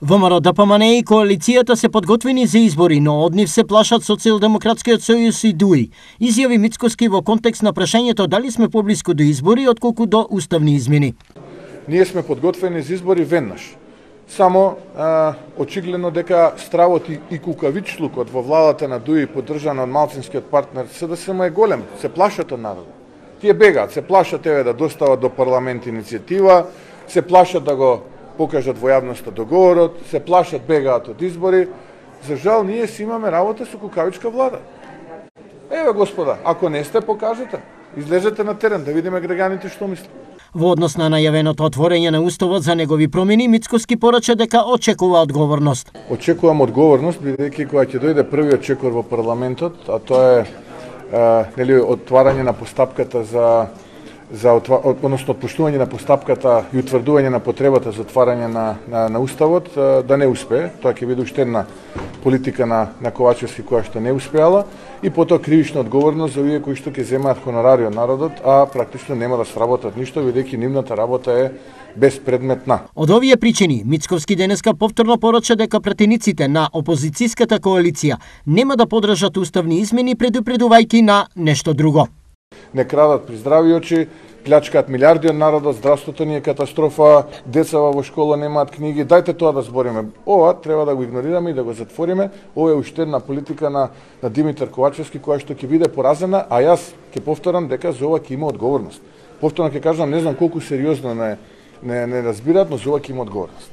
ВМРО, ДПМН и коалицијата се подготвени за избори, но од нив се плашат Социјалдемократскиот сојуз и ДУИ. Изјави Мицкоски во контекст на прашањето дали сме поблиску до избори отколку до уставни измени. Ние сме подготвени за избори веднаш. Само очигледно дека стравот и кукавичлукот во владата на ДУИ, поддржана од малцинскиот партнер СДСМ е голем. Се плашат од народот. Тие бегаат, се плашат да достават до парламент иницијатива, се плашат да го покажат во јавноста договорот, се плашат, бегаат од избори. За жал, ние си имаме работа со кукавичка влада. Еве, господа, ако не сте, покажете. Излезете на терен да видиме граѓаните што мислат. Во однос на најавеното отворање на уставот за негови промени, Мицкоски порача дека очекува одговорност. Очекувам одговорност, бидејќи кога ќе дојде првиот чекор во парламентот, а тоа е отварање на постапката односно отпуштување на постапката и утврдување на потребата за отварање на уставот, да не успее. Тоа ќе биде уште една политика на Ковачевски која што не успеала, и потоа кривична одговорност за овие кои што ќе земаат хонорари од народот, а практично нема да сработат ништо, бидејќи нивната работа е безпредметна. Од овие причини, Мицковски денеска повторно порача дека пратениците на опозицијската коалиција нема да поддржат уставни измени, предупредувајќи на нешто друго. Не крадат при здрави очи, плячкаат милиарди од народот, здравството ни е катастрофа, децава во школа немаат книги, дајте тоа да збориме. Ова треба да го игнорираме и да го затвориме. Ова е уште една политика на Димитар Ковачевски која што ќе биде поразена, а јас ќе повторам дека за ова ќе има одговорност. Повторно ќе кажам, не знам колку сериозно не разбираат, но за ова ќе има одговорност.